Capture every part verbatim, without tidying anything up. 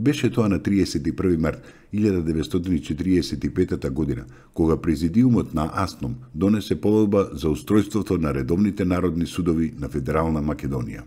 Беше тоа на триесет и први март илјада деветстотини четиридесет и пета година, кога Президиумот на АСНОМ донесе повелба за устројството на редовните народни судови на Федерална Македонија.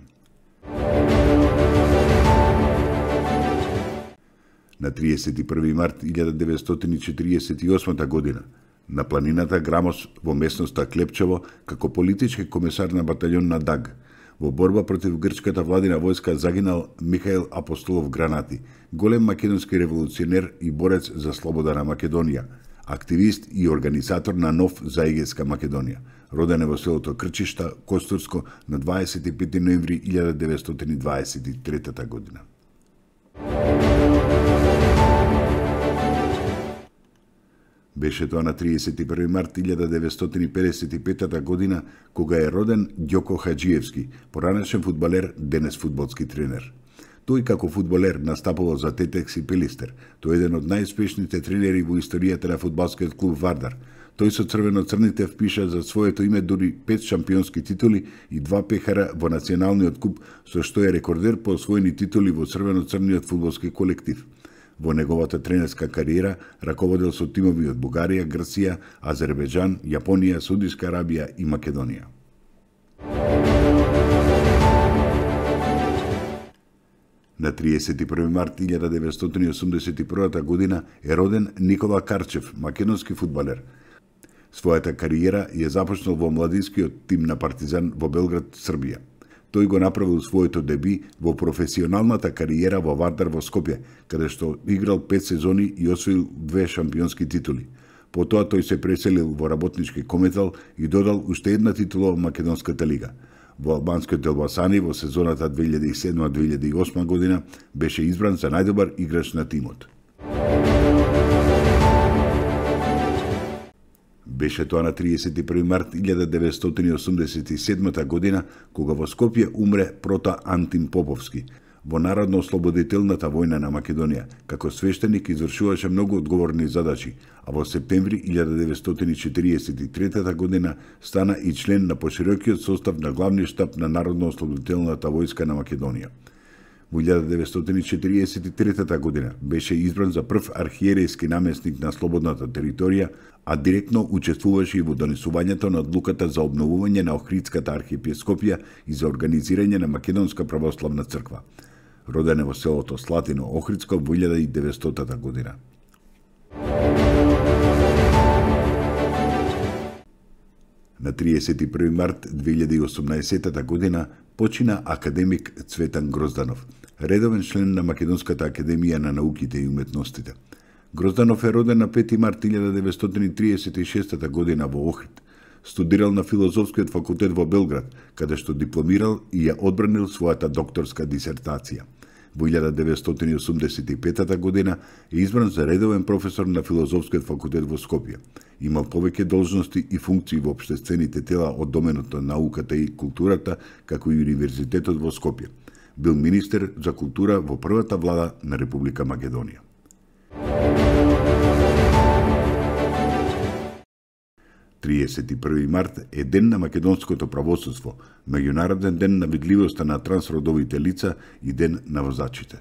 На триесет и први март илјада деветстотини четиридесет и осма година, на планината Грамос во местноста Клепчево, како политички комесар на батаљон на Даг, во борба против грчката владина војска загинал Михаил Апостолов Гранати, голем македонски револуционер и борец за слобода на Македонија, активист и организатор на нов заегеска Македонија. Роден е во селото Крчишта, Костурско, на дваесет и пети ноември илјада деветстотини дваесет и трета година. Беше тоа на триесет и први март илјада деветстотини педесет и пета година, кога е роден Ѓоко Хаџиевски, поранешен фудбалер, денес фудбалски тренер. Тој како фудбалер настапувал за Тетекс и Пелистер. Тој е еден од најуспешните тренери во историјата на фудбалскиот клуб Вардар. Тој со црвено-црните впиша за своето име дури пет шампионски титули и два пехара во националниот куп, со што е рекордер по освоени титули во црвено-црниот фудбалски колектив. Во неговата тренерска кариера раководел со тимови од Бугарија, Грција, Азербејџан, Јапонија, Саудиска Арабија и Македонија. На триесет и први март илјада деветстотини осумдесет и прва година е роден Никола Карчев, македонски фудбалер. Својата кариера ја започнал во младинскиот тим на Партизан во Белград, Србија. Тој го направил своето деби во професионалната кариера во Вардар во Скопје, каде што играл пет сезони и освоил две шампионски титули. Потоа тој се преселил во работнички Кометал и додал уште една титула во Македонската лига. Во албанскиот Елбасани во сезоната две илјади и седма - две илјади и осма година беше избран за најдобар играч на тимот. Беше тоа на триесет и први март илјада деветстотини осумдесет и седма година, кога во Скопје умре Прота Антим Поповски. Во Народно-ослободителната војна на Македонија, како свештеник извршуваше многу одговорни задачи, а во септември илјада деветстотини четиридесет и трета година стана и член на поширокиот состав на главниот штаб на Народно-ослободителната војска на Македонија. Во илјада деветстотини четиридесет и трета година беше избран за прв архиерејски намесник на слободната територија, а директно учествуваше и во донесувањето на одлуката за обновување на Охридската архиепископија и за организирање на Македонска православна црква. Роден е во селото Слатино, Охридско, во илјада и деветстотата година. На триесет и први март две илјади и осумнаесета година почина академик Цветан Грозданов, редовен член на Македонската академија на науките и уметностите. Грозданов е роден на пети март илјада деветстотини триесет и шеста година во Охрид. Студирал на Филозофскиот факултет во Белград, каде што дипломирал и ја одбранил својата докторска дисертација. Во илјада деветстотини осумдесет и пета година е избран за редовен професор на Филозофскиот факултет во Скопје. Имал повеќе должности и функции во општествените тела од доменот на науката и културата, како и Универзитетот во Скопје. Бил министер за култура во првата влада на Република Македонија. триесет и први март е ден на македонското правосудство, меѓународен ден на видливоста на трансродовите лица и ден на возачите.